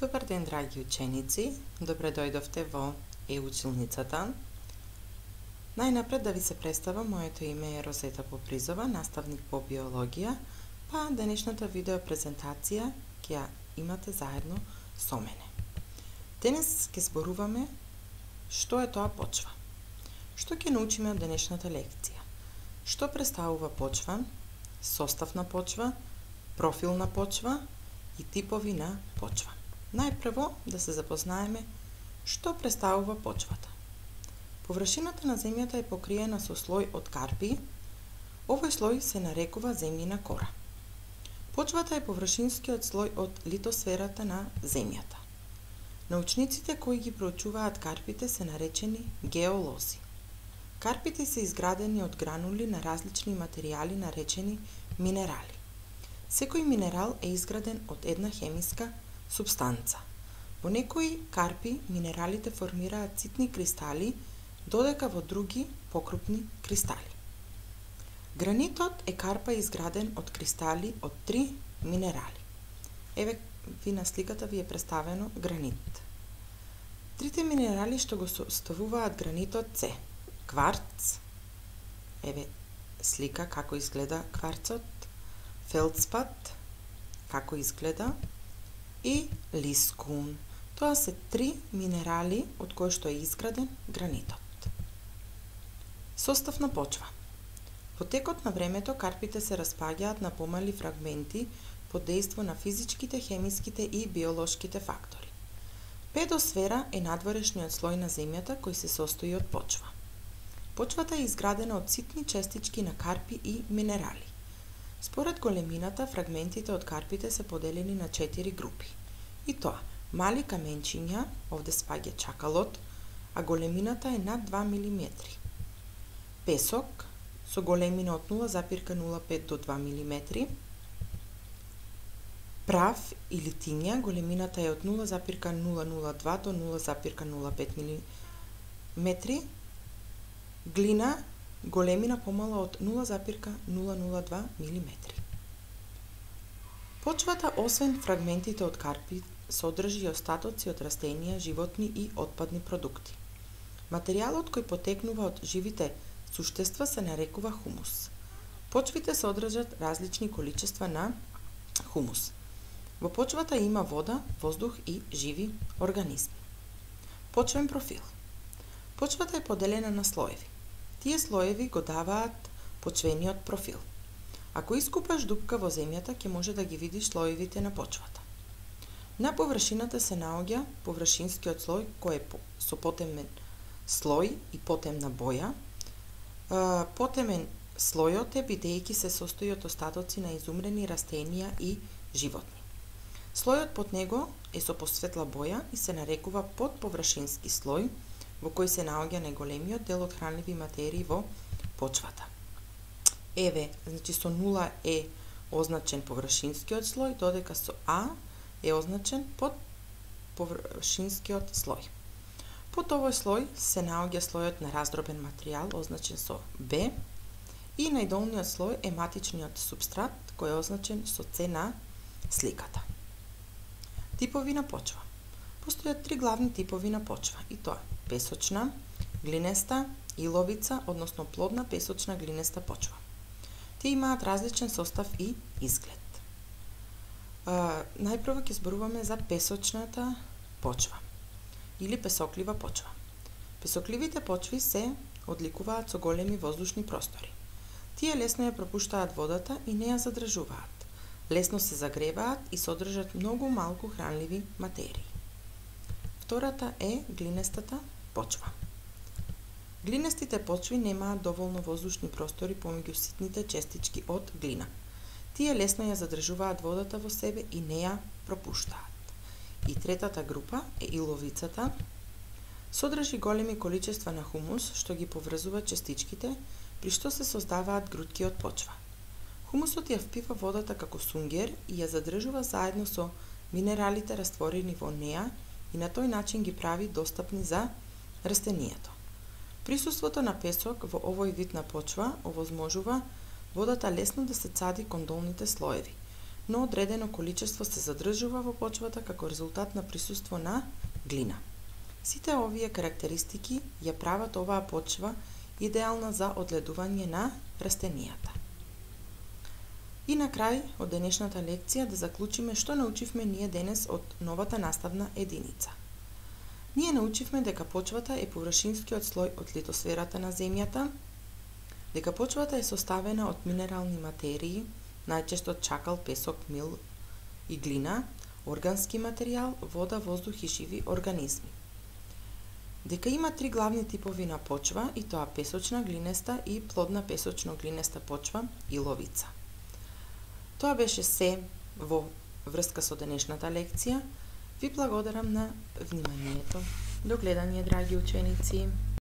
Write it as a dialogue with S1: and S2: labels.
S1: Добар ден, драги ученици! Добре дојдовте во Е-училницата. Најнапред да ви се представам, моето име е Розета Попризова, наставник по биологија, па денешната видео презентација ќе ја имате заедно со мене. Денес ќе зборуваме што е тоа почва. Што ќе научиме од денешната лекција? Што представува почва, состав на почва, профил на почва и типови на почва. Најпрво да се запознаеме што представува почвата. Површината на земјата е покриена со слој од карпи. Овој слој се нарекува земјина кора. Почвата е површинскиот слој од литосферата на земјата. Научниците кои ги проучуваат карпите се наречени геолози. Карпите се изградени од гранули на различни материјали наречени минерали. Секој минерал е изграден од една хемиска супстанца. Во некои карпи минералите формираат ситни кристали, додека во други покрупни кристали. Гранитот е карпа изграден од кристали од 3 минерали. Еве ви на сликата ви е представено гранит. Трите минерали што го составуваат гранитот се кварц, еве слика како изгледа кварцот, фелдспат, како изгледа, и лискун. Тоа се 3 минерали од кои што е изграден гранитот. Состав на почва. Во текот на времето карпите се распаѓаат на помали фрагменти под дејство на физичките, хемиските и биолошките фактори. Педосфера е надворешниот слој на земјата кој се состои од почва. Почвата е изградена од ситни честички на карпи и минерали. Според големината, фрагментите од карпите се поделени на 4 групи. И тоа, мали каменчиња, овде спаѓа чакалот, а големината е над 2 мм. Песок, со големина од 0,05 до 2 мм. Прав или тиња, големината е од 0,002 до 0,05 мм. Глина, големина помала од 0,002 мм. Почвата, освен фрагментите од карпи, содржи и остатоци од растенија, животни и отпадни продукти. Материјалот кој потекнува од живите суштества се нарекува хумус. Почвите содржат различни количества на хумус. Во почвата има вода, воздух и живи организми. Почвен профил. Почвата е поделена на слоеви. Тие слоеви го даваат почвениот профил. Ако искупаш дупка во земјата, ќе може да ги видиш слоевите на почвата. На површината се наоѓа површинскиот слој кој е со потемен слој и потемна боја. Потемен слојот е бидејќи се состои од остатоци на изумрени растенија и животни. Слојот под него е со посветла боја и се нарекува подповршински слој, во кој се наоѓа најголемиот дел од хранливи материи во почвата. Еве, значи со 0 е означен површинскиот слој, додека со А е означен подповршинскиот слој. Под овој слој се наоѓа слојот на раздробен материјал, означен со Б, и најдолниот слој е матичниот супстрат, кој е означен со С на сликата. Типови на почва. Постојат 3 главни типови на почва, и тоа песочна, глинеста, иловица, односно плодна песочна глинеста почва. Тие имаат различен состав и изглед. Најпрво ќе зборуваме за песочната почва или песоклива почва. Песокливите почви се одликуваат со големи воздушни простори. Тие лесно ја пропуштаат водата и не ја задржуваат. Лесно се загреваат и содржат многу малку хранливи материи. Втората е глинестата почва. Глинестите почви немаат доволно воздушни простори помеѓу ситните честички од глина. Тие лесно ја задржуваат водата во себе и не ја пропуштаат. И третата група е иловицата. Содржи големи количества на хумус што ги поврзува честичките, при што се создаваат грудки од почва. Хумусот ја впива водата како сунгер и ја задржува заедно со минералите растворени во неа и на тој начин ги прави достапни за растенијето. Присуството на песок во овој вид на почва овозможува водата лесно да се цади кон долните слоеви, но одредено количество се задржува во почвата како резултат на присуство на глина. Сите овие карактеристики ја прават оваа почва идеална за одледување на растенијата. И на крај од денешната лекција да заклучиме што научивме ние денес од новата наставна единица. Ние научивме дека почвата е површинскиот слој од литосферата на земјата, дека почвата е составена од минерални материи, најчесто чакал, песок, мил и глина, органски материјал, вода, воздух и живи организми. Дека има три главни типови на почва, и тоа песочна, глинеста и плодна песочно-глинеста почва и ловица. Тоа беше се во врска со денешната лекција. Ви благодарам на вниманието. До гледање, драги ученици!